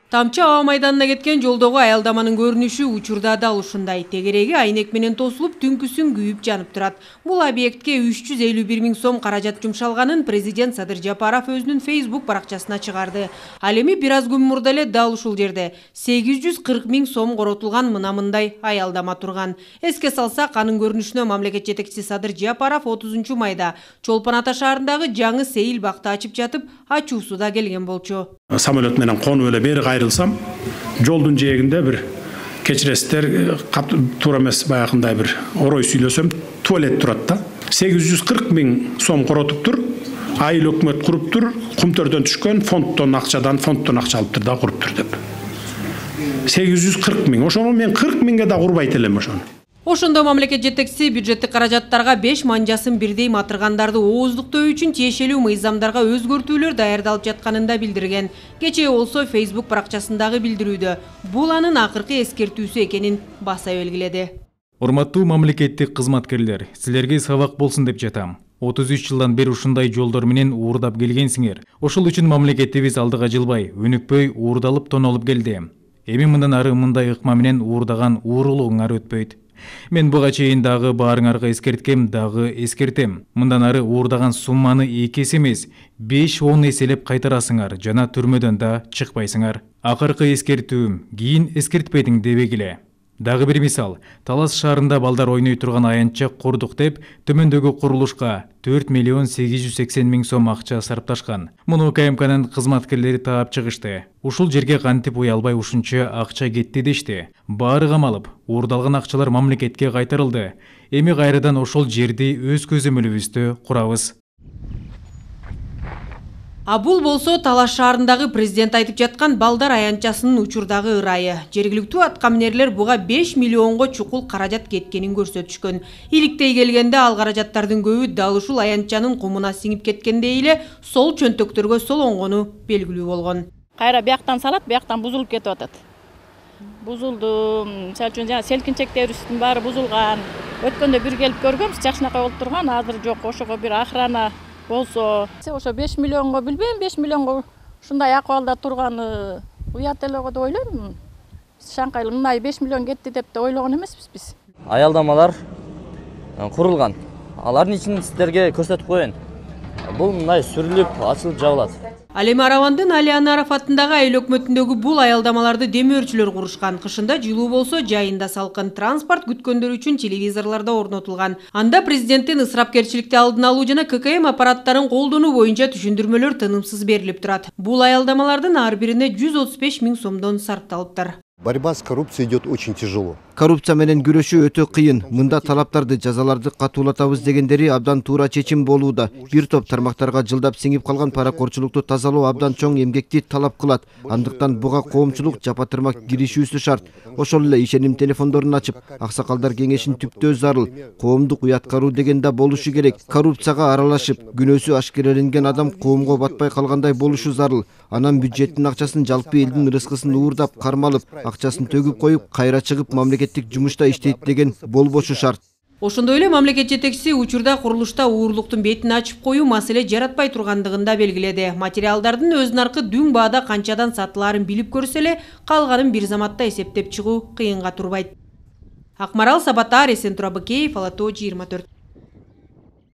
Тамчы аба майданына кеткен жолдогу аялдаманын көрүнүшү учурда дал ушундай. Тегереги айнек менен тосулуп, түнкүсүн күйүп жанып турат. Бул объектке 351 миң сом каражат жумшалганын президент Садыр Жапаров өзүнүн Facebook баракчасына чыгарды. Ал эми бир аз күн мурда эле дал ушул жерде 840 миң сом коротулган мындай аялдама турган. Эске салсак, анын көрүнүшүнө мамлекет жетекчиси Садыр Жапаров 30 майда Чолпон Ата шаарындагы жаңы сейил бакты ачып жатып, ачуусу да келген болчу. Самолет менен конуп эле бери кайрылсам, жолдун жээгинде бир кечиресиздер, туура эмес баягындай бир орой сүйлөсөм, туалет турат да. 840 миң сом коротуптур, айыл өкмөт куруптур, Кумтөрдөн түшкөн фонддон акча алыптыр да куруптур деп. 840 миң. Ошону мен 40 миңге да курбайт элем ошону. Ошондо мамлекет жетекчиси бюджеттик каражаттарга 5 манжасын бирдей матыргандарды ооздуктоо үчүн тиешелүү мыйзамдарга өзгөртүүлөр даярдалып жатканын да билдирген. Кечээ болсо Facebook баракчасындагы билдирүүдө бул анын акыркы эскертүүсү экенин баса белгиледи. Урматтуу мамлекеттик кызматкерлер, силерге сабак болсун деп жатам. 33 жылдан бери ушундай жолдор менен уурдап келгенсиңер. Ошол үчүн мамлекетибиз алдыга жылбай, өнүкпөй, уурдалып тонолуп келди. Эми мындан ары мындай ыкма менен уурдаган уурулуңар өтпөйт. Мен буга чейин дагы баарыңарга эскерткем, дагы эскертем. Мындан ары уурдаган сумманы 2 эсе эмес, 5-10 эселеп кайтарасыңар жана түрмөдөн да чыкпайсыңар. Акыркы эскертүүм, кийин эскертпедиң дебегиле. Дагы бир мисал, Талас шаарында балдар ойной турган аянтча курдук деп, төмөндөгү курулушка 4 миллион 880 миң сом акча сарпташкан. Муну КМКнын кызматкерлери таап чыгышты. Ушул жерге кантип уялбай ушунча акча кетти дешти. Баары камалып, уурдалган акчалар мамлекетке кайтарылды. Эми кайрадан ошол жерди өз көзөмөлүбүздө курабыз. А бул болсо Талас шаарындагы президент айтып жаткан балдар аянтчасынын учурдагы ырайы. Жергиликтүү аткаминерлер буга 5 миллионго чукул каражат кеткенин көрсөтүшкөн. Иликтей келгенде ал каражаттардын көбү дал ушул аянтчанын кумуна сиңип кеткендей эле сол чөнтөктөргө солонгону белгилүү болгон. Кайра бияктан салат, бияктан бузулуп кетип атат. Бузулду, мисалы үчүн жана селкинчектерибиздин баары бузулган. Өткөндө бир келип көргөнбүз, жакшынакай болуп турган, азыр жок. Ошого бир охрана болсо, ошо 5 миллионго билбейм, 5 миллионго ушундай акыбалда турганы уят эле го деп ойлойм. Шаңкайлы мындай 5 миллион кетти деп да ойлогон эмеспиз биз. Аялдамалар курулган. Алардын ичин сиздерге көрсөтүп коеюн. Бул мындай сүрүлүп, ачылып жабылат. Ал эми Аравандын Али Анаров атындагы айыл өкмөтүндөгү бул аялдамаларды демөөрчүлөр курушкан. Кышында жылуу болсо, жайында салкын. Транспорт күткөндөр үчүн телевизорлордо орнотулган. Анда президенттин ысырапкерчиликти алдын алуу жана ККМ аппараттарын колдонуу боюнча түшүндүрмөлөр тынымсыз берилип турат. Бул аялдамалардын ар бирине 135 миң сомдон сарпталыптыр. Борьба с коррупцией идет очень тяжело. Коррупция менен күрөшүү өтө кыйын. Мында талаптарды, жазаларды катуулатабыз дегендери абдан туура чечим болууда. Бир топ тармактарга жылдап сиңип калган паракорчулукту тазалоо абдан чоң эмгекти талап кылат. Андыктан буга коомчулук жапа-тырмак киришүүсү шарт. Ошол эле ишеним телефондорун ачып, аксакалдар кеңешин түптөө зарыл. Коомдук уяткаруу деген да болушу керек. Коррупцияга аралашып, күнөөсү ашкереленген адам коомго батпай калгандай болушу зарыл. Анан бюджеттин акчасын жалпы элдин рызкысын уурдап, кармалып, акчасын төгүп коюп, кайра чыгып мамлекеттик жумушта иштейт деген болбошу шарт. Ошондой эле мамлекет жетекчиси учурда курулушта уурлуктун бетин ачып коюу маселе жаратпай тургандыгын да белгиледи. Материалдардын өз наркы дүң баада канчадан сатылаарын билип көрсө эле, калганын бир заматта эсептеп чыгуу кыйынга турбайт. Акмарал Сабатар, Эсен Турабыкеев, Ала Тоо 24.